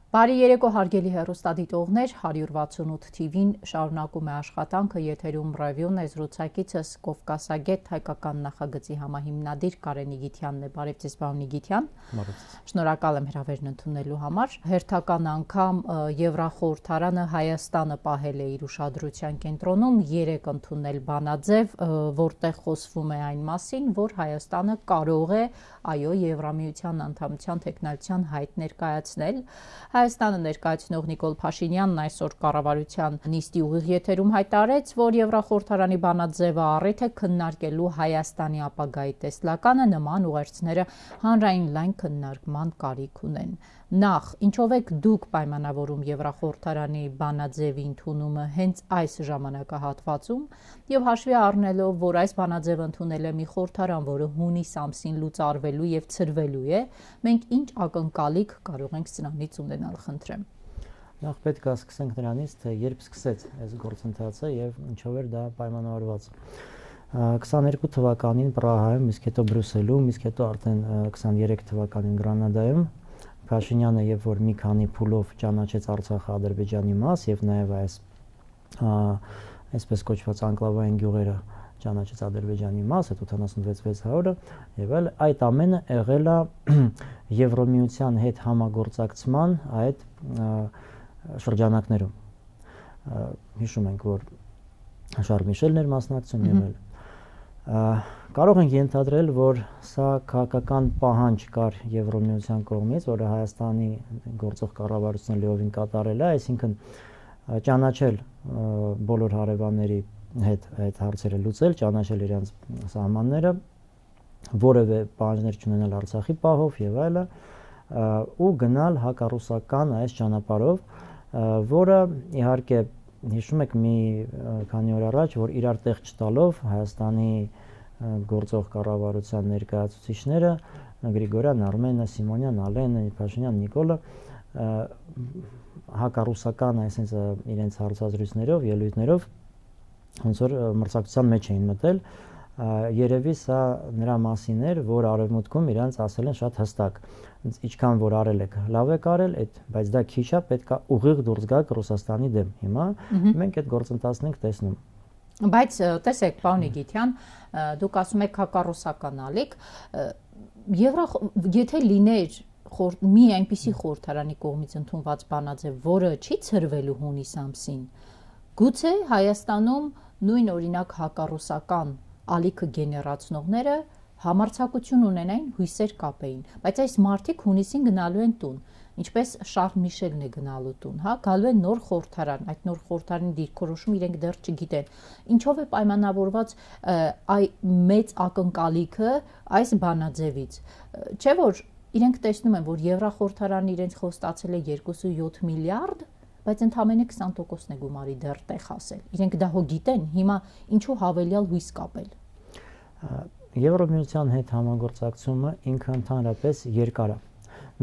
Բարի երեկո հարգելի հեռուստադիտողներ, 168 TV-ն շարունակում է աշխատանքը, եթերում ռևյուն է, զրուցակիցս Կովկասագետ հայկական նախագծի համահիմնադիր Կարեն Իգիթյանն է։ Բարև ձեզ, պարոն Իգիթյան։ Շնորհակալ եմ հրավերն ընդունելու համար։ Հերթական անգամ Եվրախորհրդարանը Հայաստանը պահել է իր ուշադրության կենտրոնում, 3 ընդունել բանաձև, որտեղ խոսվում է այն մասին, որ Հայաստանը կարող է Եվրամիության անդամության թեկնածության հայտ ներկայացնել։ Հայաստանը ներկայացնող Նիկոլ Փաշինյանն այսօր կառավարության նիստի ուղիղ եթերում հայտարարեց, որ Եվրախորհրդարանի բանաձևը առիթ է քննարկելու Հայաստանի ապագայի տեսլականը, նման ուղերձները հանրային լայն քննարկման կարիք ունեն։ Նախ, ինչով եք դուք պայմանավորում Եվրախորհրդարանի բանաձևի ընդունումը հենց այս ժամանակահատվածում եւ հաշվի առնելով, որ այս բանաձևը ընդունել է մի խորհրդարան, որը հունիս ամսին լուծարվելու եւ ցրվելու է, մենք ինչ ակնկալիք կարող ենք սրանից ունենալ, խնդրեմ։ Նախ պետք է սկսենք նրանից, թե երբ սկսեց այս գործընթացը եւ ինչով էր դա պայմանավորված։ 22 թվականին Պրահայում, իսկ հետո Բրյուսելում, իսկ հետո արդեն 23 թվականին Գրանադայում Փաշինյանը եւ որ մի քանի փուլով ճանաչեց Արցախը Ադրբեջանի մաս եւ նաեւ այսպես կոչված անկլավային գյուղերը ճանաչեց Ադրբեջանի մաս, այդ 86600-ը եւ այդ ամենը եղել է Եվրոմիության հետ համագործակցման այդ շրջանակներում։ Հիշում ենք, որ Շարլ Միշելն էր մասնակցում եւ կարող ենք ենթադրել, որ սա քաղաքական պահանջ կար Եվրոմիության կողմից, որը Հայաստանի գործող կառավարությունը լիովին կատարել է, այսինքն ճանաչել բոլոր հարևանների հետ այդ հարցերը լուծել, ճանաչել իրենց սահմանները, որևէ պահանջներ չունենալ Արցախի պահով եւ այլը, ու գնալ հակառուսական այս ճանապարհով, որը իհարկե հիշում եք մի քանի օր առաջ, որ իրար տեղ չտալով Հայաստանի գործող կառավարության ներկայացուցիչները Գրիգորյան, Արմենը, Սիմոնյան, Ալենը, Փաշինյան, Նիկոլը հակառուսական այսպես իրենց հարցազրույցներով, ելույթներով ոնց որ մրցակցության մեջ էին մտել, երևի սա նրա մասին էր, որ արևմուտքում իրենց ասել են շատ հստակ, ինչքան որ արել եք, լավ եք արել, բայց դա քիչ է, պետք է ուղիղ դուրս գաք Ռուսաստանի դեմ։ Հիմա մենք այդ գործընթացն ենք տեսնում։ Բայց տեսեք, պարոն Իգիթյան, դուք ասում եք հակառուսական ալիք, եթե լիներ մի այնպիսի խորհրդարանի կողմից ընդունված բանաձև, որը չի ցրվելու հունիս ամսին, գուցե Հայաստանում նույն օրինակ հակառուսական ալիքը գեներացնողները համարձակություն ունենային, հույսեր կապեին, բայց այս մարդիկ հունիսին գնալու են տուն, ինչպես Շարլ Միշելն է գնալու տուն, գալու են նոր խորհրդարան, այդ նոր խորհրդարանի դիրքորոշումը իրենք դեռ չգիտեն, ինչով է պայմանավորված մեծ ակնկալիքը այս բանաձևից, չէ՞ որ իրենք տեսնում են, որ Եվրախորհրդարանը իրենց խոստացել է 2.7 միլիարդ, բայց ընդամենը 20%-ն է գումարի դեռ տեղ ասել։ Իրենք դա հո գիտեն, հիմա ինչու հավելյալ հույս կապել։ Եվրոմիության հետ համագործակցումը ինքը ընդհանրապես երկար է։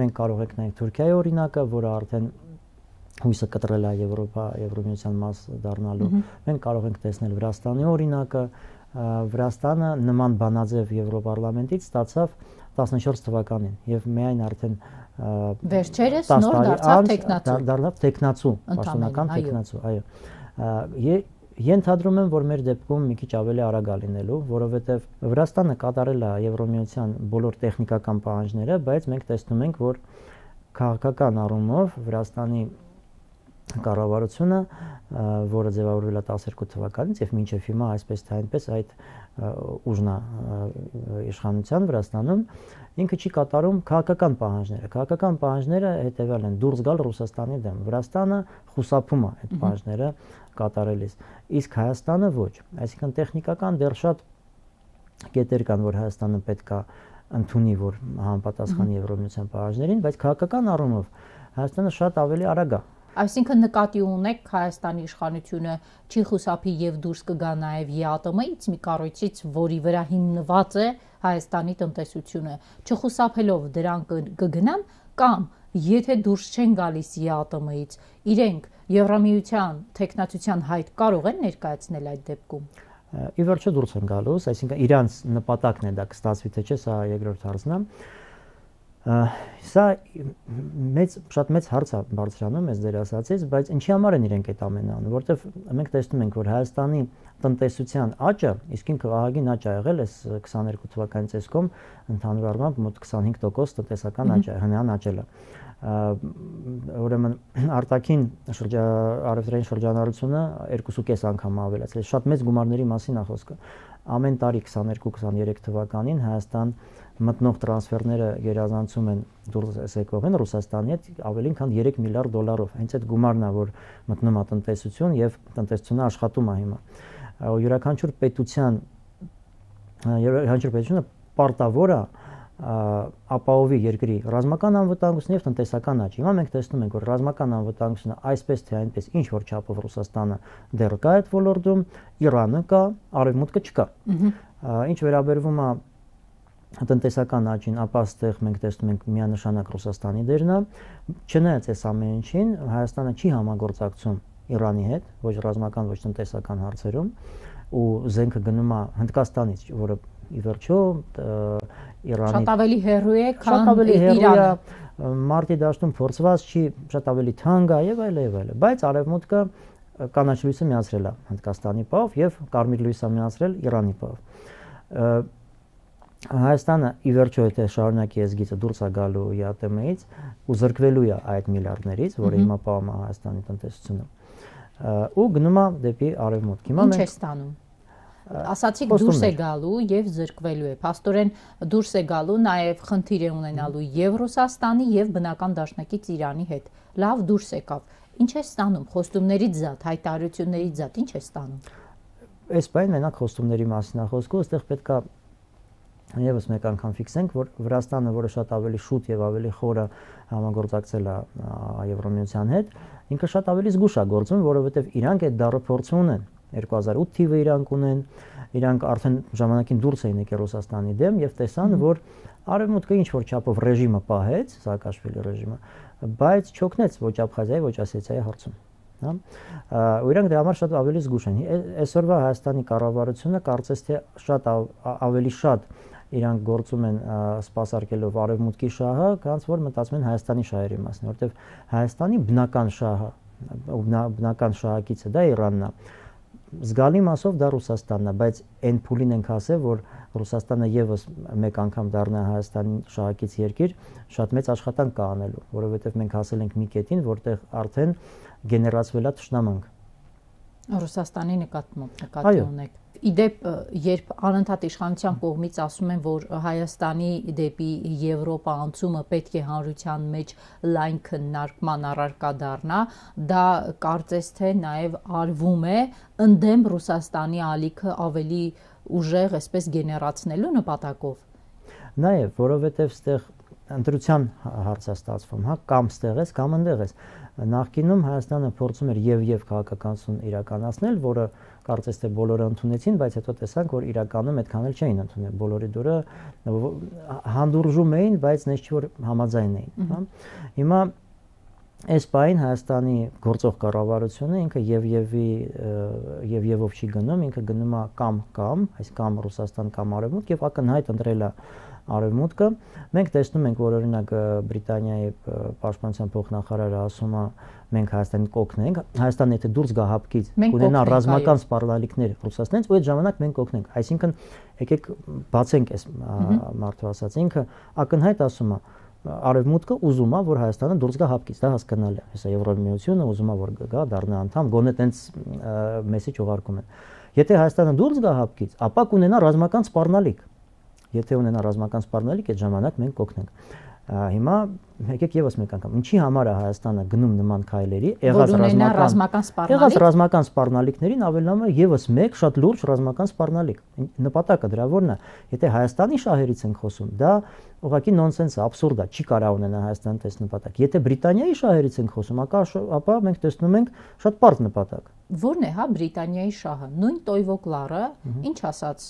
Մենք կարող ենք նայել Թուրքիայի օրինակը, որը արդեն հույսը կտրել է Եվրոմիության մաս դառնալու։ Մենք կարող ենք տեսնել Վրաստանի օրինակը, Վրաստանը նման բանաձև Եվրոպարլամենտից ստացավ 14 թվականին եւ միայն արդեն վերջերս նոր դարձավ տեխնացու, պաշտոնական տեխնացու, այո։ Ենթադրում եմ, որ մեր դեպքում մի քիչ ավելի արագ է լինելու, որովհետեւ Վրաստանը կատարել է Եվրոմիության բոլոր տեխնիկական պահանջները, բայց մենք տեսնում ենք, որ քաղաքական առումով Վրաստանի կառավարությունը, որը ձևավորվել է 12 թվականից եւ մինչեւ հիմա այսպես թե այնպես այդ ուժն է իշխանության Վրաստանում, ինքը չի կատարում քաղաքական պահանջները։ Քաղաքական պահանջները հետեւյալ են՝ դուրս գալ Ռուսաստանի դեմ։ Վրաստանը խուսափում է այդ պահանջները կատարելիս, իսկ Հայաստանը ոչ։ Այսինքն տեխնիկական դեռ շատ կետեր կան, որ Հայաստանը պետք է ընդունի, որ համապատասխանի Եվրոմիության պահանջներին, բայց քաղաքական առումով Հայաստանը շատ ավելի արագ է։ Այսինքն նկատի ունեք Հայաստանի իշխանությունը չի խուսափի եւ դուրս կգա նաեւ ԵԱՏՄ-ից մի կառույցից, որի վրա հիմնված է Հայաստանի տնտեսությունը, չխուսափելով դրան կգնան կամ եթե դուրս չեն գալիս ԵԱՏՄ-ից, իրենք Եվրամիության տեխնացության հայտ կարող են ներկայացնել այդ դեպքում։ Ի վերջո դուրս են գալուս, այսինքն իրանց նպատակն է դա կստացվի թե չէ, սա երկրորդ հարցն է։ Սա շատ մեծ հարց է բարձրանում ես դեր ասացից, բայց ինչի համար են իրենք այդ ամենը անում, որովհետև մենք տեսնում ենք, որ Հայաստանի տնտեսության աճը, իսկ ինքը ահագին աճ ա եղել այս 22 թվականի ծեսկում, ընդհանուր առմամբ մոտ 25% տնտեսական աճ է, հնարան աճել է։ Ուրեմն արտաքին առևտրային շրջանառությունը 2.5 անգամ ավելացել է, շատ մեծ գումարների մասին է խոսքը։ Ամեն տարի 22-23 թվականին Հայաստան մտնող տրանսֆերները գերազանցում են դուրս եկողին Ռուսաստանի հետ ավելին քան 3 միլիարդ դոլարով։ Հենց այդ գումարն է, որ մտնում է տնտեսություն եւ տնտեսությունը աշխատում է հիմա։ Յուրաքանչյուր պետությունը պարտավոր է ապահովի երկրի ռազմական անվտանգությունը եւ տնտեսական աճ։ Հիմա մենք տեսնում ենք, որ ռազմական անվտանգությունը այսպես թե այնպես ինչ որ չափով Ռուսաստանը դեռ կա այդ ոլորտում, Իրանը կա, Արևմուտքը չկա։ Ինչ վերաբերվում է տնտեսական աճին, ապա այստեղ մենք տեսնում ենք միանշանակ Ռուսաստանի դերն է։ Չնայած այս ամեն ինչին, Հայաստանը չի համագործակցում Իրանի հետ, ոչ ռազմական, ոչ տնտեսական հարցերում, ու զենքը գնում է Հնդկաստանից, որը ի վերջո Իրանի շատ ավելի հեռու է, քան Իրանը։ Մարտի դաշտում փորձված չի, շատ ավելի թանկ է եւ այլ եւ այլ։ Բայց Արևմուտքը կանաչ լույսը միացրել է Հնդկաստանի պահով եւ կարմիր լույսը միացրել Իրանի պահով։ Հայաստանը ի վերջո եթե շարունակի այս գիծը դուրս է գալու ԵԱՏՄ-ից ու զրկվելու է այդ միլիարդներից, որը հիմա պահում է Հայաստանի տնտեսությունը, ու գնում է դեպի Արևմուտք։ Հիմա ինչ է ստանում։ Ասացիք դուրս է գալու եւ զրկվելու է։ Փաստորեն դուրս է գալու, նաեւ խնդիր է ունենալու եւ Ռուսաստանի եւ բնական դաշնակից Իրանի հետ։ Լավ դուրս եկավ։ Ինչ է ստանում խոստումներից զատ, հայտարարություններից զատ, ինչ է ստանում։ Այս բանը մենակ խոստումների մասին է խոսքը, այստեղ պետք է Եվս մեկ անգամ ֆիքսենք, որ Վրաստանը, որը շատ ավելի շուտ եւ ավելի խորը համագործակցել է Եվրամիության հետ, ինքը շատ ավելի զգուշ է գործում, որովհետեւ իրանք այդ դառը փորձ ունեն 2008 թիվը իրանք ունեն, իրանք արդեն ժամանակին դուրս էին եկել Ռուսաստանի դեմ եւ տեսան, որ Արևմուտքը ինչ որ չափով ռեժիմը պահեց, Սաակաշվիլի ռեժիմը, բայց չօգնեց ոչ Աբխազիայի, ոչ Ասետիայի հարցում։ Ու իրանք դրա համար շատ ավելի զգուշ են։ Այսօրվա Հայաստանի կառավարությունը կարծես թե շատ ավելի շատ իրանք գործում են սպասարկելով Արևմուտքի շահը, քանց որ մտածում են Հայաստանի շահերի մասին, որովհետև Հայաստանի բնական շահը, բնական շահակիցը դա Իրանն է։ Զգալի մասով դա Ռուսաստանն է, բայց այն փուլին ենք ասել, որ Ռուսաստանը եւս մեկ անգամ դառնա Հայաստանի շահակից երկիր, շատ մեծ աշխատանք կա անելու, որովհետև մենք հասել ենք մի կետին, որտեղ արդեն գեներացվել է թշնամանք։ Ռուսաստանի նկատի ունեք։ Իդեպ, երբ անընդհատ իշխանության կողմից ասում են, որ Հայաստանի դեպի Եվրոպա անցումը պետք է հանրության մեջ լայն քննարկման առարկա դառնա, դա կարծես թե նաև արվում է ընդդեմ Ռուսաստանի ալիքը ավելի ուժեղ, այսպես գեներացնելու նպատակով։ Նաև, որովհետև ստեղ ընտրության հարց է ստացվում, հա, կամ ստեղ ես, կամ ընդեղ ես։ Նախկինում Հայաստանը փորձում էր եւ քաղաքականություն իրականացնել, որը կարծես թե բոլորը ընդունեցին, բայց հետո տեսանք, որ իրականում այդքան էլ չէին ընդունել։ Բոլորի դուրը հանդուրժում էին, բայց նես չի որ համաձայն էին, հա։ Հիմա այս բային Հայաստանի գործող կառավարությունը ինքը եւ-ով չի գնում, ինքը գնում է կամ, այս կամ Ռուսաստան կամ Արևմուտք եւ ակնհայտ ընտրել է Արևմուտքը։ Մենք տեսնում ենք, որ օրինակ Բրիտանիայի պաշտպանության փոխնախարարը ասում է, մենք Հայաստանին կօգնենք, Հայաստանը եթե դուրս գա հապկից, կունենա ռազմական սպառնալիքներ Ռուսաստանից, ու այդ ժամանակ մենք կօգնենք։ Այսինքն եկեք բացենք այս մարդու ասած, ինքը ակնհայտ ասում է Արևմուտքը ուզում է, որ Հայաստանը դուրս գա հապկից, դա հասկանալի է։ Հեսա Եվրամիությունը ուզում է, որ գա դառնա անդամ, գոնե տենց մեսեջ ուղարկում են։ Եթե Հայաստանը դուրս գա հապկից, ապա կունենա ռազմական սպառնալիք։ Եթե ունենա ռազմական սպառնալիք, այդ ժամանակ մենք կօգնենք։ Հիմա եկեք եւս մեկ անգամ, ինչի համար է Հայաստանը գնում նման քայլերի, եղած ռազմական սպառնալիքներին ավելանում է եւս մեկ շատ լուրջ ռազմական սպառնալիք։ Նպատակը դրա որն է։ Եթե Հայաստանի շահերից ենք խոսում, դա ուղղակի նոնսենս է, աբսուրդ է, չի կարող ունենա Հայաստանը տես նպատակ։ Եթե Բրիտանիայի շահերից ենք խոսում, ապա մենք տեսնում ենք շատ պարզ նպատակ։ Որն է, հա, Բրիտանիայի շահը։ Նույն Տոյվոկլարը ինչ ասաց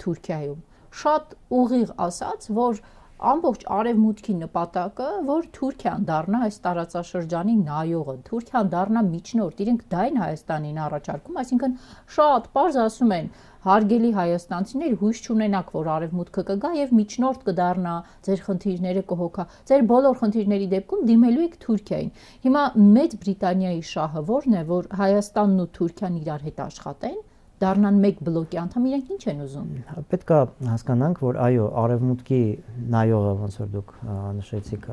Թուրքիայում։ Շատ ուղիղ ասաց, որ ամբողջ արևմուտքի նպատակը, որ Թուրքիան դառնա այս տարածաշրջանի նայողը, Թուրքիան դառնա միջնորդ, իրենք դա են Հայաստանին առաջարկում, այսինքն շատ պարզ ասում են, հարգելի հայաստանցիներ, հույս չունենաք, որ արևմուտքը կգա եւ միջնորդ կդառնա, ձեր խնդիրները կհոգա, ձեր բոլոր խնդիրների դեպքում դիմելու եք Թուրքիային։ Հիմա Մեծ Բրիտանիայի շահը ո՞րն է, որ Հայաստանն ու Թուրքիան իրար հետ աշխատեն, դառնան մեկ բլոկի անդամ, իրենք ինչ են ուզում։ Պետք է հասկանանք, որ այո, արևմուտքի նայողը, ոնց որ դուք նշեցիք,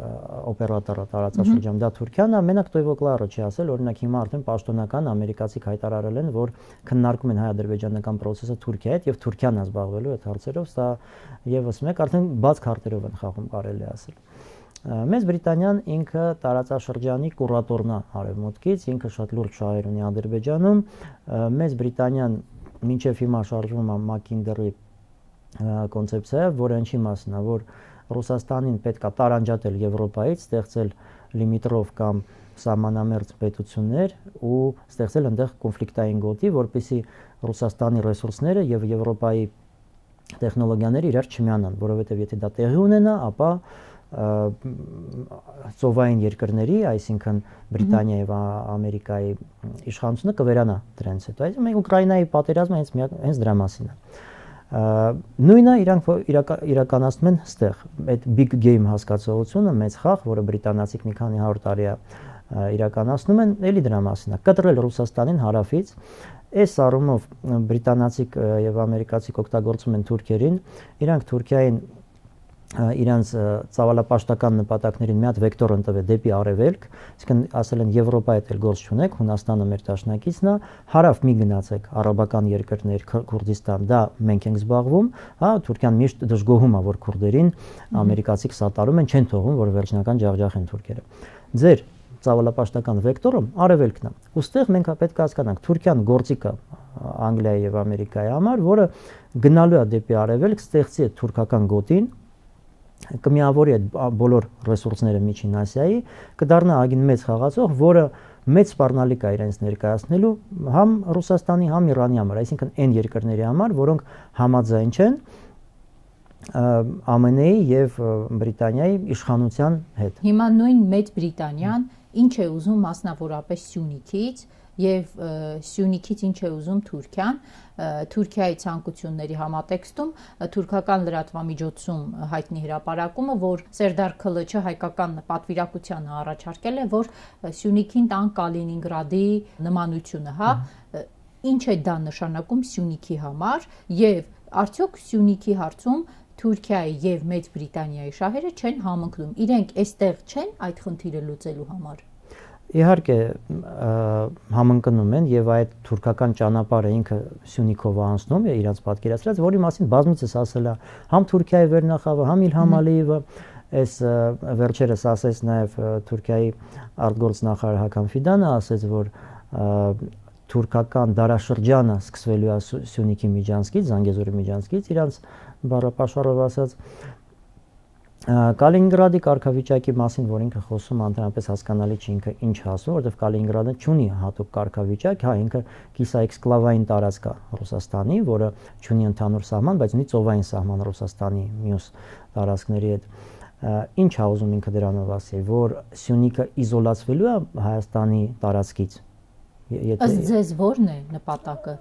օպերատորը տարածաշրջանում դա Թուրքիան է, մենակ Տոյվոկլարը չի ասել, օրինակ հիմա արդեն պաշտոնական ամերիկացիք հայտարարել են, որ քննարկում են հայ-ադրբեջանական process-ը Թուրքիայի հետ եւ Թուրքիան է զբաղվելու այդ հարցերով, սա եւս մեկ արդեն բաց քարտերով են խաղում, կարելի է ասել։ Մեծ Բրիտանիան ինքը տարածաշրջանի կուրատորն է արևմուտքից, ինքը շատ լուրջ շահեր ունի Ադրբեջանում, Մեծ Բրիտանիան մինչև հիմա շարժվում է Մակինդերի կոնցեպցիայով, որը ինչի մասն է, որ Ռուսաստանին պետք է տարանջատել Եվրոպայից, ստեղծել լիմիտրով կամ սահմանամերձ պետություններ ու ստեղծել այնտեղ կոնֆլիկտային գոտի, որպեսզի Ռուսաստանի ռեսուրսները եւ Եվրոպայի տեխնոլոգիաները իրար չմիանան, որովհետեւ եթե դա տեղի ունենա, ապա ծովային երկրների, այսինքն Բրիտանիայի եւ Ամերիկայի իշխանությունը կվերանա դրանից հետո։ Այսինքն Ուկրաինայի պատերազմը հենց դրա մասին է։ Նույնը իրանք իրականացնում են ստեղ այդ big game հասկացողությունը, մեծ խաղ, որը բրիտանացիք մի քանի 100 տարի է իրականացնում են, էլի դրա մասին է։ Կտրել Ռուսաստանին հարավից, այս առումով բրիտանացիք եւ ամերիկացիք օգտագործում են թուրքերին, իրանք Թուրքիային իրանց ծավալապաշտական նպատակներին մի հատ վեկտոր ընտրվել դեպի արևելք, այսինքն ասել են Եվրոպայի հետ գործ չունեք, Հունաստանը մեր դաշնակիցն է, հարավ մի գնացեք արաբական երկրներ, Քուրդիստան, դա մենք ենք զբաղվում, հա, Թուրքիան միշտ դժգոհում է, որ քուրդերին ամերիկացիք սատարում են, չեն թողում, որ վերջնական ջախջախեն թուրքերը։ Ձեր ծավալապաշտական վեկտորը արևելքն է։ Ոստեղ մենք պետք է հասկանանք, Թուրքիան գործիք է Անգլիայի եւ Ամերիկայի համար, որը գնալու է դեպի արևելք, ստեղծի է թուրքական գոտին, կմիավորի այդ բոլոր ռեսուրսները Միջին Ասիայի, կդառնա ագին մեծ խաղացող, որը մեծ սպառնալիք է իրենց ներկայացնելու համ Ռուսաստանի, համ Իրանի համար, այսինքն այն երկրների համար, որոնք համաձայն չեն ԱՄՆ-ի եւ Բրիտանիայի իշխանության հետ։ Հիմա նույն Մեծ Բրիտանիան ինչ է ուզում մասնավորապես Սյունիքից եւ Սյունիքից ինչ է ուզում Թուրքիան, Թուրքիայի ցանկությունների համատեքստում թուրքական լրատվամիջոցում հայտնի հրապարակումը, որ Սերդար Քլչը հայկական պատվիրակությանը առաջարկել է, որ Սյունիքին տան Կալինինգրադի նմանությունը, հա, ինչ է դա նշանակում Սյունիքի համար եւ արդյոք Սյունիքի հարցում Թուրքիայի եւ Մեծ Բրիտանիայի շահերը չեն համընկնում, իրենք այստեղ չեն այդ խնդիրը լուծելու համար։ Իհարկե համընկնում են եւ այդ թուրքական ճանապարհը ինքը Սյունիքով անցնում է իրաց պատկերացրած, որի մասին բազմիցս ասել է համ Թուրքիայի վերնախավը, համ Իլհամ Ալիևը, այս վերջերս ասեց նաեւ Թուրքիայի արտգործնախարար Հական Ֆիդանը ասեց, որ թուրքական դարաշրջանը սկսվելու է Սյունիքի միջանցքից, Զանգեզուրի միջանցքից, իրանց բառապաշարով ասած Կալինինգրադի կարգավիճակի մասին, որ ինքը խոսում է, ընդհանրապես հասկանալի չի ինքը ինչ ասում, որովհետև Կալինինգրադը չունի հատուկ կարգավիճակ, հա, ինքը կիսաէքսկլավային տարածք է Ռուսաստանի, որը չունի ընդհանուր սահման, բայց ունի ծովային սահման Ռուսաստանի մյուս տարածքների հետ։ Ինչ է ուզում ինքը դրանով ասի, որ Սյունիքը իզոլացվելու է Հայաստանի տարածքից։ Ըստ ձեզ ո՞րն է նպատակը։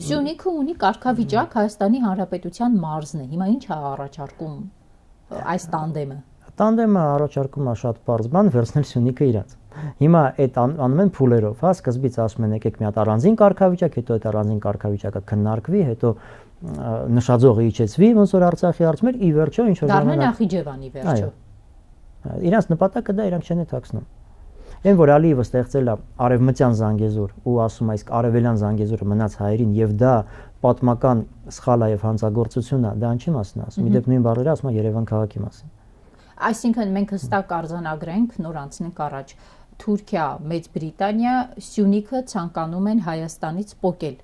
Սյունիքը ունի կարգավիճակ Հայաստանի Հանրապետության մարզն է։ Հիմա ինչ է առաջարկում այս տանդեմը։ Տանդեմը առաջարկում է շատ բարձ բան վերցնել Սյունիքը իրաց։ Հիմա այդ անում են փուլերով, հա, սկզբից ասում են եկեք մի հատ առանձին կարգավիճակ, հետո այդ առանձին կարգավիճակը քննարկվի, հետո նշաձողը իջեցվի, ոնց որ Արցախի հարցում էր, ի վերջո ինչ որ ժամանակ Նախիջևանի վերջո։ Իրանց նպատակը դա իրանք չեն թաքցնում։ Այն որ Ալիևը ստեղծել է արևմտյան Զանգեզուր ու ասում այս արևելյան Զանգեզուրը մնաց հայերին եւ դա պատմական սխալ է եւ հանցագործություն է, դա ինչի մասն է ասում։ Իդեպ նույն բառերը ասում է Երևան քաղաքի մասին։ Այսինքն մենք հստակ արձանագրենք, նոր անցնենք առաջ։ Թուրքիա, Մեծ Բրիտանիա, Սյունիքը ցանկանում են Հայաստանից պոկել։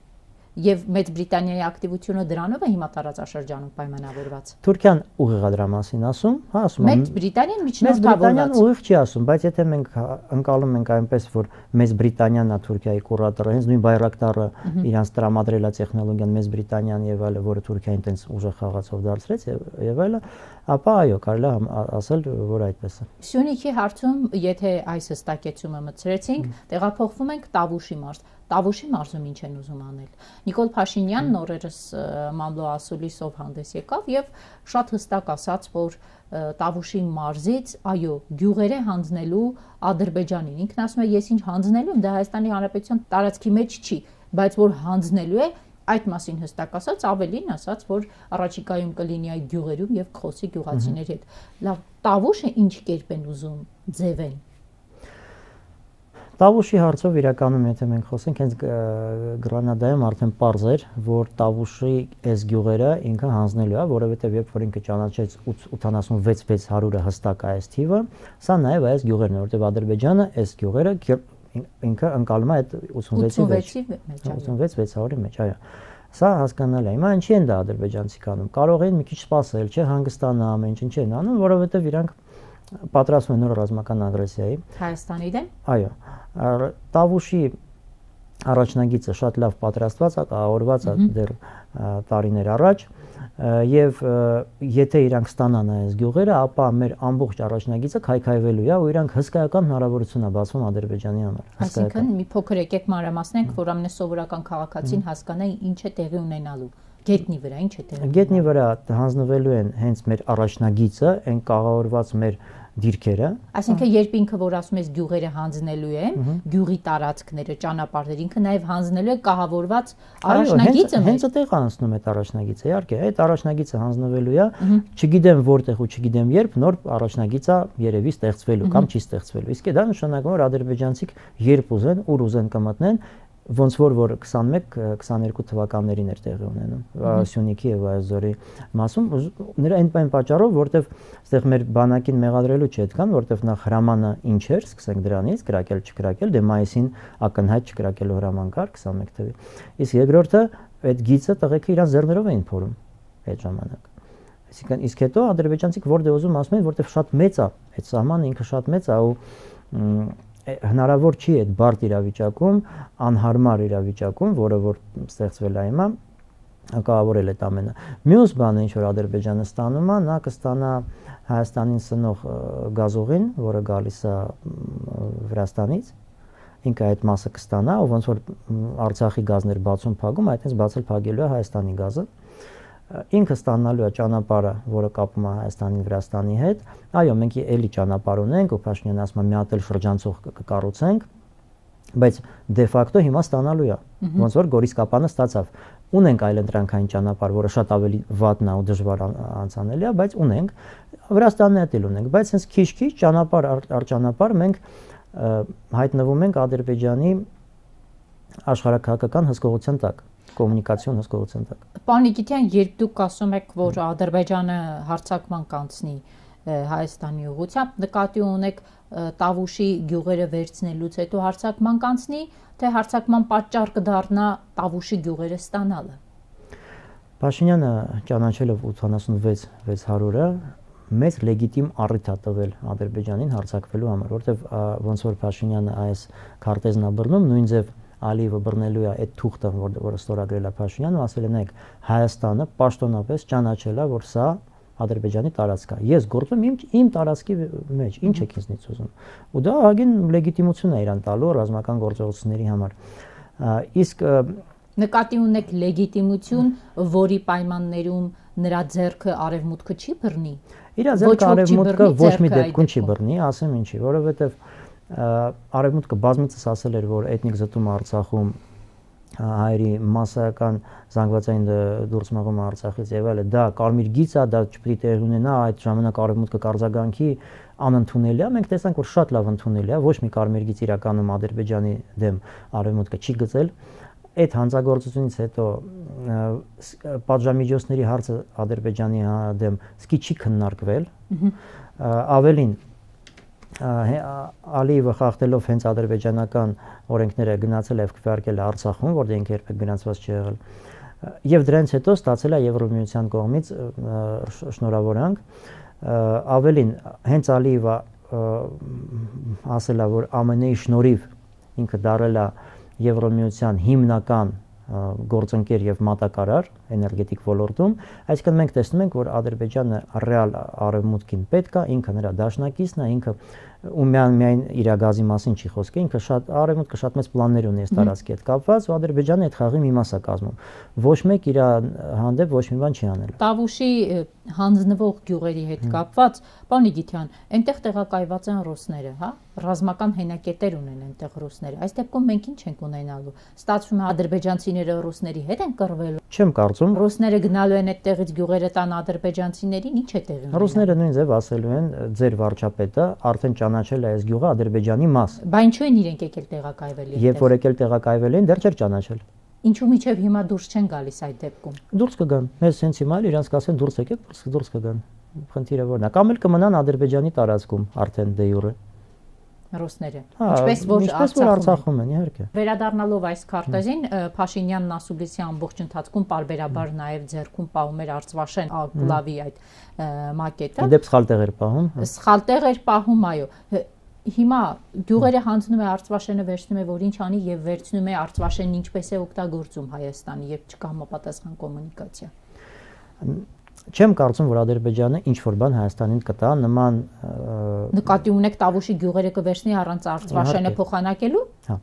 Եվ Մեծ Բրիտանիայի ակտիվությունը դրանով է հիմա տարածաշրջանում պայմանավորված։ Թուրքիան ուղիղ է դրա մասին ասում, հա, ասում է։ Մեծ Բրիտանիան միջնորդավորված։ Ուղիղ չի ասում, բայց եթե մենք ընկալում ենք այնպես, որ Մեծ Բրիտանիան է Թուրքիայի կուրատորը, հենց նույն Բայրակտարը իրանց տրամադրել է տեխնոլոգիան Մեծ Բրիտանիան եւ այլը, որը Թուրքիային տենց ուժեղ խաղացով դարձրեց եւ այլը, ապա այո, կարելի է ասել, որ այդպես է։ Սյունիքի հարցում, եթե այս հստակեցումը մտցրեցինք, տեղափոխվում ենք Տավուշի մարզ։ Տավուշի մարզում ինչ են ուզում անել։ Նիկոլ Փաշինյանն օրերս Մամլո ասուլիսով հանդես եկավ եւ շատ հստակ ասաց, որ Տավուշի մարզից, այո, գյուղերը հանձնելու Ադրբեջանին։ Ինքն ասում է, ես ինչ հանձնելու եմ, դա Հայաստանի Հանրապետության տարածքի մեջ չի, բայց որ հանձնելու է, այդ մասին հստակ ասաց, ավելին ասաց, որ առաջիկայում կլինի այդ գյուղերում եւ կխոսի գյուղացիների հետ։ Լավ, Տավուշը ինչ կերպ են ուզում ձևեն։ Տավուշի հարցով իրականում, եթե մենք խոսենք, հենց Գրանադայում արդեն պարզ էր, որ Տավուշի այս գյուղերը ինքը հանձնելու է, որովհետև երբ որ ինքը ճանաչեց 86600-ը հստակ այս թիվը, սա նաև այս գյուղերն է, որովհետև Ադրբեջանը այս գյուղերը ինքը ընկալում է այդ 86-600-ի մեջ, այո։ Սա հասկանալի է։ Հիմա ինչի են դա ադրբեջանցիք անում։ Կարող են մի քիչ սպասել, չէ, հանգստանալ, ամեն ինչ են անում, որովհետև իրանք պատրաստվում են նոր ռազմական ագրեսիայի Հայաստանի դեմ։ Այո, Տավուշի առաջնագիծը շատ լավ պատրաստված է, կառավարված է դեռ տարիներ առաջ, եւ եթե իրանք ստանան այս գյուղերը, ապա մեր ամբողջ առաջնագիծը քայքայվելու է ու իրանք հսկայական հնարավորություն է բացվում Ադրբեջանի համար։ Այսինքն մի փոքր եկեք մանրամասնենք, որ ամենասովորական քաղաքացին հասկանա ինչ է տեղի ունենալու։ Գետնի վրա ինչ է տեղի։ Գետնի վրա հանձնվելու են հենց մեր առաջնագիծը, այն կառավարված մեր դիրքերը։ Այսինքն երբ ինքը որ ասում ես գյուղերը հանձնելու են, գյուղի տարածքները, ճանապարհները, ինքը նաև հանձնելու է կահավորված առաջնագիծը։ Հենց այդտեղ անցնում է առաջնագիծը, իհարկե, այդ առաջնագիծը հանձնվելու է, չգիտեմ որտեղ ու չգիտեմ երբ նոր առաջնագիծը երևի ստեղծվելու կամ չի ստեղծվելու։ Իսկ դա նշանակում է, որ ադրբեջանցիք երբ ուզեն, ուր ուզեն կմտնեն, ոնց որ 21-22 թվականներին էր տեղի ունենում Սյունիքի եւ Այզորի մասում նրա այն պատճառով, որտեվ այստեղ մեր բանակին մեղադրելու չի այդքան, որտեվ նախ հրամանը ինչ էր, սկսենք դրանից, կրակել չկրակել, դե մայիսին ակնհայտ չկրակելու հրաման կար 21 թվականին։ Իսկ երկրորդը այդ գիծը տղեկը իրան ձեռներով էին փորում այդ ժամանակ։ Այսինքն իսկ հետո ադրբեջանցիք որտեղ ուզում ասում են, որտեվ շատ մեծ է, այդ սահմանը ինքը շատ մեծ է ու հնարավոր չի այդ բարդ իրավիճակում, անհարմար իրավիճակում, որը որ ստեղծվել է հիմա, կառավարել այդ ամենը։ Մյուս բանը, ինչ որ Ադրբեջանը ստանում է, նա կստանա Հայաստանին սնող գազուղին, որը գալիս է Վրաստանից, ինքը այդ մասը կստանա, ու ոնց որ Արցախի գազներ բացում փակում, այդպես բացել փակելու է Հայաստանի գազը։ Ինքը ստանալու է ճանապարհը, որը կապում է Հայաստանին Վրաստանի հետ։ Այո, մենք էլի ճանապարհ ունենք, ու Փաշինյանը ասում է մի հատ էլ շրջանցող կկառուցենք, բայց դե ֆակտո հիմա ստանալու է։ Ոնց որ Գորիսկապանը ստացավ։ Ունենք այլընտրանքային ճանապարհ, որը շատ ավելի վատն է ու դժվար անցանելի է, բայց ունենք։ Վրաստանն էլ ունենք, բայց հենց քիչ-քիչ ճանապարհ առ ճանապարհ մենք հայտնվում ենք Ադրբեջանի աշխարհաքաղաքական հսկողության տակ, կոմունիկացիոն հսկողության տակ։ Պարոն Նիկիտյան, երբ դուք ասում եք, որ Ադրբեջանը հարձակման կանցնի Հայաստանի ուղղությամբ, նկատի ունեք Տավուշի գյուղերը վերցնելուց հետո հարձակման կանցնի, թե հարձակման պատճառ կդառնա Տավուշի գյուղերը ստանալը։ Փաշինյանը ճանաչելով 86-600-ը մեծ լեգիտիմ առիթ է տվել Ադրբեջանին հարձակվելու համար, որովհետև ոնց որ Փաշինյանը այս քարտեզն է բռնում, նույն ձև Ալիևը բռնելու է այդ թուղթը, որը ստորագրել է Փաշինյանը, ու ասել է նայեք, Հայաստանը պաշտոնապես ճանաչել է, որ սա Ադրբեջանի տարածք է։ Ես գործում իմ տարածքի մեջ, ինչ եք ինձնից ուզում։ Ու դա ահագին լեգիտիմություն է իրան տալու ռազմական գործողությունների համար։ Իսկ նկատի ունեք լեգիտիմություն, որի պայմաններում նրա ձեռքը արևմուտքը չի բռնի։ Իր ձեռքը արևմուտքը ոչ մի դեպքում չի բռնի, ասեմ ինչի, որովհետև արևմուտքը բազմիցս ասել էր, որ էթնիկ զտումը Արցախում հայերի մասսայական զանգվածային դուրս մղումը Արցախից եւ այլն, դա կարմիր գիծ է, դա չպետք է տեղի ունենա, այդ ժամանակ արևմուտքը կարձագանքի անընդունելի է, մենք տեսանք, որ շատ լավ ընդունելի է, ոչ մի կարմիր գիծ իրականում Ադրբեջանի դեմ արևմուտքը չի գծել։ Այդ հանցագործությունից հետո պատժամիջոցների հարցը Ադրբեջանի դեմ սկի չի քննարկվել, ավելին Ալիևը խախտելով հենց ադրբեջանական օրենքները գնացել է եւ քվեարկել Արցախում, որտեղ ինքը երբեք գնացված չի եղել։ Եվ դրանից հետո ստացել է Եվրոմիության կողմից շնորհավորանք։ Ավելին, հենց Ալիևը ասել է, որ ԱՄՆ-ի շնորհիվ ինքը դարել է Եվրոմիության հիմնական գործընկեր եւ մատակարար էներգետիկ ոլորտում, այսինքն մենք տեսնում ենք, որ Ադրբեջանը ռեալ արևմուտքին պետք է, ինքը նրա դաշնակիցն է, ինքը ու միայն իր գազի մասին չի խոսքը, ինքը շատ արևմուտքը շատ մեծ պլաններ ունի այս տարածքի հետ կապված, ու Ադրբեջանը այդ խաղի մի մաս է կազմում։ Ոչ մեկ իր հանդեպ ոչ մի բան չի անել։ Տավուշի հանձնվող գյուղերի հետ կապված, պարոն Իգիթյան, այնտեղ տեղակայված են ռուսները, հա? Ռազմական հենակետեր ունեն այնտեղ ռուսները։ Այս դեպքում մենք ինչ ենք ունենալու։ Ստացվում է ադրբեջանցիները ռուսների հետ են կռվելու։ Չեմ կարծում։ Ռուսները գնալու են այդտեղից գյուղերը տան ադրբեջանցիներին, ինչ է տեղի ունենալու։ Ռուսները նույն ձև ասելու են, ձեր վարչապետը արդեն ճանաչել է այս գյուղը Ադրբեջանի մաս։ Բա ինչու են իրենք եկել տեղակայվել այդտեղ։ Երբ որ եկել տեղակայվել են, դեռ չէր ճանաչել։ Ինչու միջև հիմա դուրս չեն գալիս այդ դեպքում։ Դուրս կգան։ Մեզ հենց հիմա իրանց կասեն դուրս եկեք, դուրս կգան։ Խնդիրը որն է։ Կամ էլ կմնան Ադրբեջանի տարածքում արդեն դե յուրե։ Ռուսները։ Ինչպես որ Արցախում են, իհարկե։ Վերադառնալով այս քարտեզին, Փաշինյանն ասուլիսի ամբողջ ընթացքում պարբերաբար նաև ձեռքում պահում էր Արցվաշեն գլավի այդ մակետը։ Իդեպ սխալ տեղ էր պահում։ Սխալ տեղ էր պահում, այո։ Հիմա գյուղերը հանձնում է Արցվաշենը, վերցնում է, որ ինչ անի եւ վերցնում է Արցվաշենն ինչպես է օգտագործում Հայաստանի, երբ չկա համապատասխան կոմունիկացիա։ Չեմ կարծում, որ Ադրբեջանը ինչ որ բան Հայաստանին կտա նման նկատի ունեք Տավուշի գյուղերը կվերցնի առանց Արցվաշենը փոխանակելու։ Հա։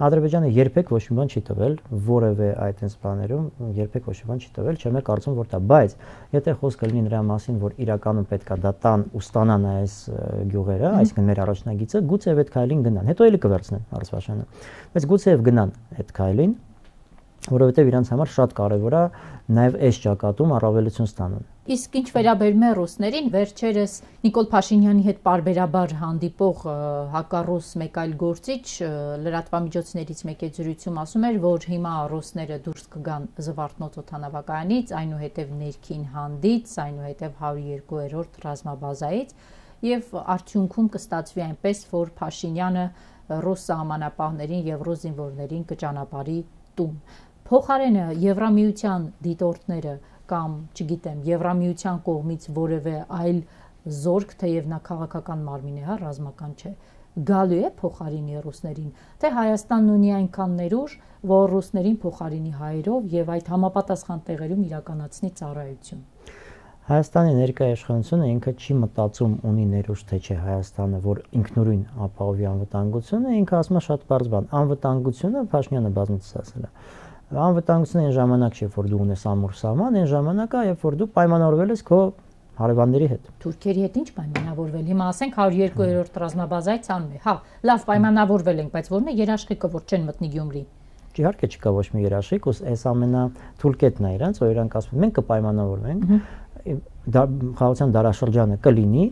Ադրբեջանը երբեք ոչ մի բան չի տվել, որևէ այդպես բաներում երբեք ոչ մի բան չի տվել, չեմ կարծում, որ դա, բայց եթե խոսքը լինի նրա մասին, որ իրականում պետքա դա տան ու ստանան այս գյուղերը, այսինքն մեր առաջնագիծը, գուցե այդ քայլին գնան, հետո էլի կվերցնեն Արցվաշենը, բայց գուցե գնան այդ քայլին, որովհետև իրանց համար շատ կարևոր է նաև այս ճակատում առավելություն ստանան։ Իսկ ինչ վերաբերում է ռուսներին, վերջերս Նիկոլ Փաշինյանի հետ պարբերաբար հանդիպող հակառուս մեկ այլ գործիչ լրատվամիջոցներից մեկի զրույցում ասում էր, որ հիմա ռուսները դուրս կգան Զվարթնոց օդանավակայանից, այնուհետև ներքին հանդից, այնուհետև 102-րդ ռազմաբազայից, եւ արդյունքում կստացվի այնպես, որ Փաշինյանը ռուս սահմանապահներին եւ ռուս զինվորներին կճանապարհի տուն։ Փոխարենը Եվրամիության դիտորդները կամ, չգիտեմ, Եվրամիության կողմից որևէ այլ զորք, թեև նա քաղաքական մարմին է, հա, ռազմական չէ, գալու է փոխարինի ռուսներին, թե Հայաստանն ունի այնքան ներուժ, որ ռուսներին փոխարինի հայերով եւ այդ համապատասխան տեղերում իրականացնի ծառայություն։ Հայաստանի ներկայ իշխանությունը ինքը չի մտածում ունի ներուժ թե չէ Հայաստանը, որ ինքնուրույն ապահովի անվտանգությունը, ինքը ասում է շատ բարձ բան, անվտանգությունը Փաշինյանը բազմիցս ասել է։ Անվտանգությունը այն ժամանակ չէ, որ դու ունես ամուր սահման, այն ժամանակը, երբ որ դու պայմանավորվել ես քո հարևանների հետ։ Թուրքերի հետ ինչ պայմանավորվել։ Հիմա ասենք 102-րդ ռազմաբազայից անում է։ Հա, լավ պայմանավորվել ենք, բայց ո՞րն է երաշխիքը, որ չեն մտնի Գյումրի։ Իհարկե չկա ոչ մի երաշխիք, այս ամենաթուրքետն է իրանց, որ իրանք ասում են մենք կպայմանավորվենք, խաղաղության դարաշրջանը կլինի,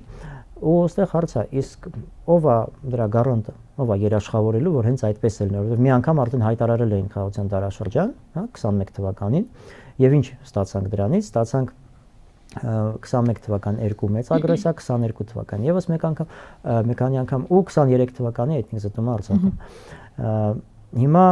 ու այստեղ հարց է, իսկ ով է դրա գառանտը, ով է երաշխավորելու, որ հենց այդպես է լինելու, որովհետև մի անգամ արդեն հայտարարել էին խաղաղության դարաշրջան, հա, 21 թվականին, եւ ինչ ստացանք դրանից, ստացանք 21 թվական երկու մեծ ագրեսիա, 22 թվական եւս մեկ քանի անգամ ու 23 թվականի էթնիկ զտումը Արցախում։ Հիմա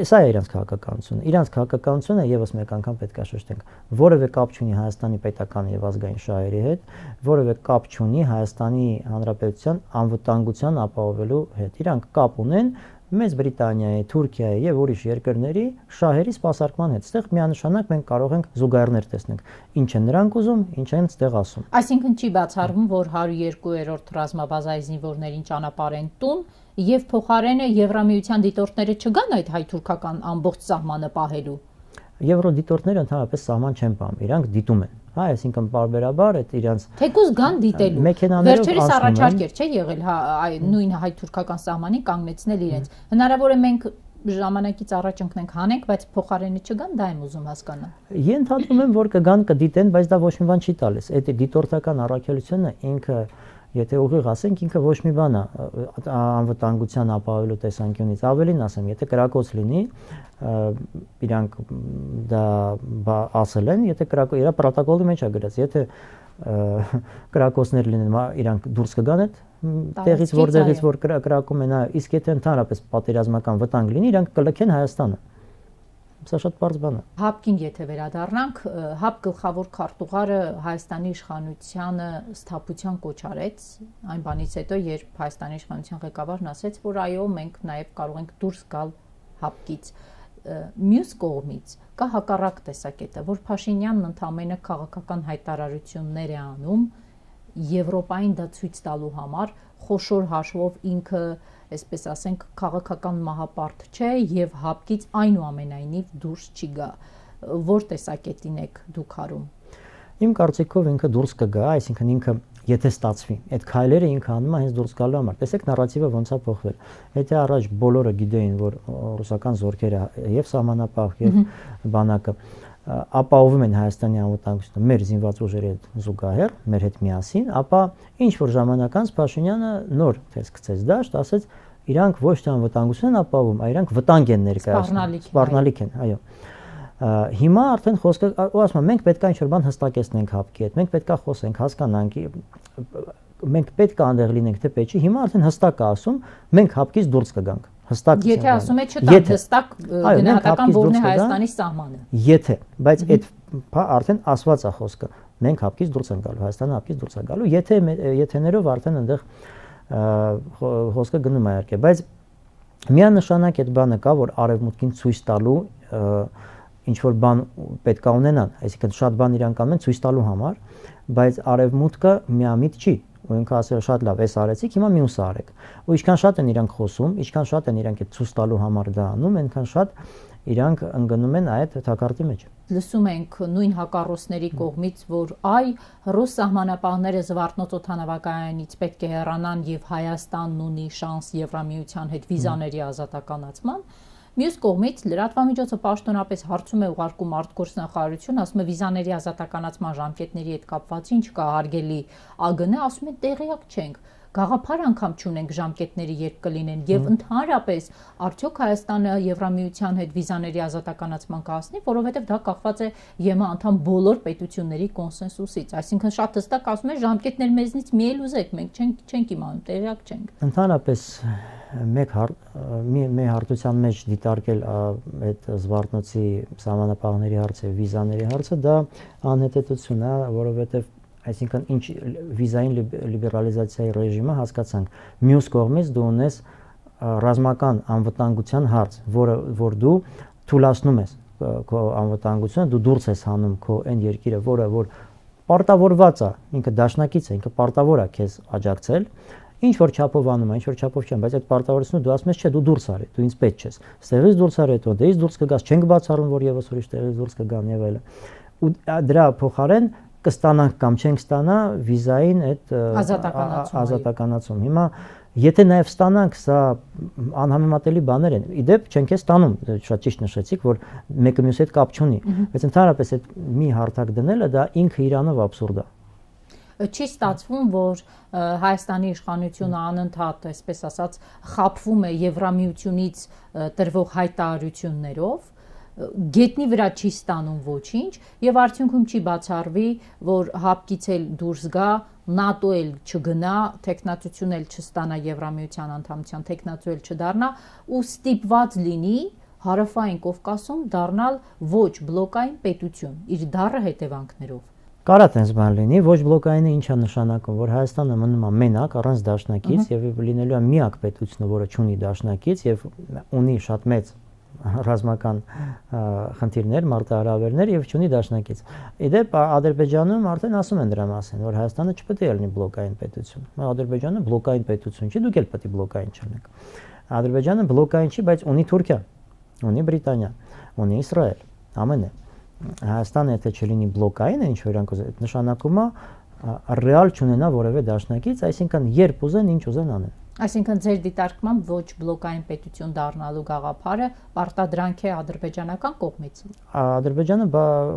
Սա է իրանց քաղաքականությունը։ Իրանց քաղաքականությունը եւս մեկ անգամ պետք է շեշտենք, որևէ կապ չունի Հայաստանի պետական եւ ազգային շահերի հետ, որևէ կապ չունի Հայաստանի Հանրապետության անվտանգության ապահովելու հետ։ Իրանք կապ ունեն Մեծ Բրիտանիայի, Թուրքիայի եւ ուրիշ երկրների շահերի սպասարկման հետ։ Այստեղ միանշանակ մենք կարող ենք զուգահեռներ տեսնել։ Ինչ են նրանք ուզում, ինչ են այդտեղ ասում։ Այսինքն չի բացառվում, որ 102-րդ ռազմաբազայի զինվորներին ճանապարհեն տուն եւ փոխարենը Եվրամիության դիտորդները չգան այդ հայ-թուրքական ամբողջ սահմանը պահելու։ Եվրոդիտորդները ընդհանրապես սահման չեն պահում, իրանք դիտում են։ Հա, այսինքն բարբերաբար այդ իրանց թեկուզ գան դիտելու։ Վերջերս առաջարկ էր, չէ՞ եղել, հա, նույն հայ-թուրքական սահմանին կանգնեցնել իրենց։ Հնարավոր է մենք ժամանակից առաջ ընկնենք հանենք, բայց փոխարենը չգան, դա եմ ուզում հասկանալ։ Ենթադրում եմ, որ կգան, կդիտեն, բայց դա ոչ մի բան չի տալիս։ Այդ դիտորդական առաքելությունը ինքը Եթե ուղիղ ասենք, ինքը ոչ մի բան է անվտանգության ապահովելու տեսանկյունից։ Ավելին ասեմ, եթե կրակոց լինի, իրանք դա ասել են, եթե իր պրոտոկոլի մեջ է գրած, եթե կրակոցներ լինեն, իրանք դուրս կգան այդ տեղից, որտեղից որ կրակում են, իսկ եթե ընդհանրապես պատերազմական վտանգ լինի, իրանք կլքեն Հայաստանը։ Սա շատ բարձ բան է։ ՀԱՊԿ-ին եթե վերադառնանք, ՀԱՊԿ գլխավոր քարտուղարը Հայաստանի իշխանությանը սթափության կոչ արեց, այն բանից հետո, երբ Հայաստանի իշխանության ղեկավարն ասեց, որ այո, մենք նաև կարող ենք դուրս գալ հապկից։ Մյուս կողմից կա հակառակ տեսակետը, որ Փաշինյանն ընդամենը քաղաքական հայտարարություններ է անում Եվրոպային դա ցույց տալու համար, խոշոր հաշվով ինքը, այսպես ասենք, քաղաքական մահապարտ չէ եւ հապկից այնուամենայնիվ դուրս չի գա։ Որ տեսակետին եք դուք հարում։ Իմ կարծիքով ինքը դուրս կգա, այսինքն ինքը եթե ստացվի, այդ քայլերը ինքը անում է հենց դուրս գալու համար։ Տեսեք նարատիվը ոնց է փոխվել։ Եթե առաջ բոլորը գիտեին, որ ռուսական զորքերը եւ սահմանապահ եւ բանակը ապահովում են Հայաստանի անվտանգությունը մեր զինված ուժերի հետ զուգահեռ, մեր հետ միասին, ապա ինչ որ ժամանակ անց Փաշինյանը նոր տեսքցեց դաշտ, ասեց իրանք ոչ թե անվտանգություն են ապահովում, այլ իրանք վտանգ են ներկայացնում, սպառնալիք են, այո։ Հիմա արդեն խոսքը ասում եմ մենք պետք է ինչ-որ բան հստակեցնենք հապկի հետ, մենք պետք է խոսենք, հասկանանք, մենք պետք է այնտեղ լինենք թե պետք չի, հիմա արդեն հստակ է ասում, մենք հապկից դուրս կգանք, հստակ։ Եթե ասում եք չտա հստակ գնահատական որն է Հայաստանի սահմանը։ Եթե, բայց այդ արդեն ասված է խոսքը, մենք հապկից դուրս ենք գալու, Հայաստանը հապկից դուրս է գալու, եթեներով արդեն այնտեղ խոսքը գնում է իհարկե, բայց միանշանակ այդ բանը կա, որ արևմուտքին ցույց տալու ինչ որ բան պետք է ունենան, այսինքն շատ բան իրանք անում են ցույց տալու համար, բայց արևմուտքը միամիտ չի, ու ինքը ասել շատ լավ, էս արեցիք, հիմա մյուսը արեք։ Ու ինչքան շատ են իրանք խոսում, ինչքան շատ են իրանք այդ ցույց տալու համար դա անում, այնքան շատ իրանք ընկնում են այդ թակարդի մեջ։ Լսում ենք նույն հակառոսների կողմից, որ այ ռուս սահմանապահները Զվարթնոց օդանավակայանից պետք է հեռանան եւ Հայաստանն ունի շանս Եվրամիության հետ վիզաների ազատականացման։ Մյուս կողմից լրատվամիջոցը պաշտոնապես հարցում է ուղարկում արտգործնախարարություն, ասում է վիզաների ազատականացման ժամկետների հետ կապված ինչ կա հարգելի ԱԳՆ, ասում են տեղյակ չենք, գաղափար անգամ չունենք ժամկետների երբ կլինեն եւ ընդհանրապես արդյոք Հայաստանը Եվրամիության հետ վիզաների ազատականացման կհասնի, որովհետեւ դա կախված է ԵՄ անդամ բոլոր պետությունների կոնսենսուսից, այսինքն շատ հստակ ասում է ժամկետներ մեզնից մի էլ ուզեք, մենք չենք իմանում, տեղյակ չենք։ Ընդհանրապես մեր հարթության մեջ դիտարկել այդ Զվարթնոցի սահմանապահների հարցը, վիզաների հարցը, դա անհետեցություն է, որովհետև այսինքն ինչ վիզային լիբերալիզացիայի ռեժիմը հասկացանք, մյուս կողմից դու ունես ռազմական անվտանգության հարց, որ դու թույլատնում ես քո անվտանգությունը, դու դուրս ես հանում քո այն երկիրը, որ պարտավորված է, ինքը դաշնակից է, ինքը պարտավոր է քեզ աջակցել, ինչ որ չափով անում է, ինչ որ չափով չեմ, բայց այդ պարտավորությունը դու ասում ես, չէ, դու դուրս արի, դու ինձ պետք չես։ Ստեղից դուրս արի, հետո դեից դուրս կգաս, չենք բացառում, որ եւս ուրիշ տեղից դուրս կգան եւ այլն։ Ու դրա փոխարեն կստանանք կամ չենք ստանա վիզային այդ ազատականացում։ Հիմա եթե նաեւ ստանանք, սա անհամեմատելի բաներ են։ Իդեպ չենք ստանում, շատ ճիշտ նշեցիք, որ մեկը մյուսի հետ կապ չունի, բայց ընդհանրապես այդ մի հարթակ դնելը դա ինքը իրանով աբսուրդ է։ Չի ստացվում, որ Հայաստանի իշխանությունը անընդհատ, այսպես ասած, խաբվում է Եվրամիությունից տրվող հայտարարություններով, գետնի վրա չի ստանում ոչինչ եւ արդյունքում չի բացառվի, որ հապկից էլ դուրս գա, ՆԱՏՕ էլ չգնա, տեխնացություն էլ չստանա Եվրամիության անդամության, տեխնացու էլ չդառնա ու ստիպված լինի Հարավային Կովկասում դառնալ ոչ բլոկային պետություն իր դառը հետևանքներով։ Կարա տենց բան լինի, ոչ բլոկայինը ինչ է նշանակում, որ Հայաստանը մնում է մենակ, առանց դաշնակից եւ լինելու է միակ պետությունը, որը չունի դաշնակից եւ ունի շատ մեծ ռազմական խնդիրներ, մարտահրավերներ եւ չունի դաշնակից։ Իդեպ Ադրբեջանում արդեն ասում են դրա մասին, որ Հայաստանը չպետք է լինի բլոկային պետություն։ Ադրբեջանը բլոկային պետություն չի, դուք էլ պետք է բլոկային չլինեք։ Ադրբեջանը բլոկային չի, բայց ունի Թուրքիա, ունի Բրիտանիա, ունի Իսրայել, ԱՄՆ-ը։ Հայաստանը եթե չլինի բլոկային, ինչ որ իրանք ուզեն, նշանակում է ռեալ չունենա որևէ դաշնակից, այսինքն երբ ուզեն, ինչ ուզեն անեն։ Այսինքն ձեր դիտարկմամբ ոչ բլոկային պետություն դառնալու գաղափարը պարտադրանք է ադրբեջանական կողմից։ Ադրբեջանը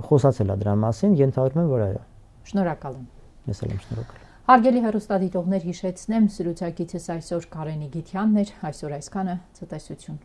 խոսացել է դրա մասին, ենթադրում եմ, որ այո։ Շնորհակալ եմ։ Ես էլ եմ շնորհակալ։ Հարգելի հեռուստադիտողներ, հիշեցնեմ, զրուցակիցս այսօր Կարենի Գիթյանն էր, այսօր այսքանը, ցտեսություն։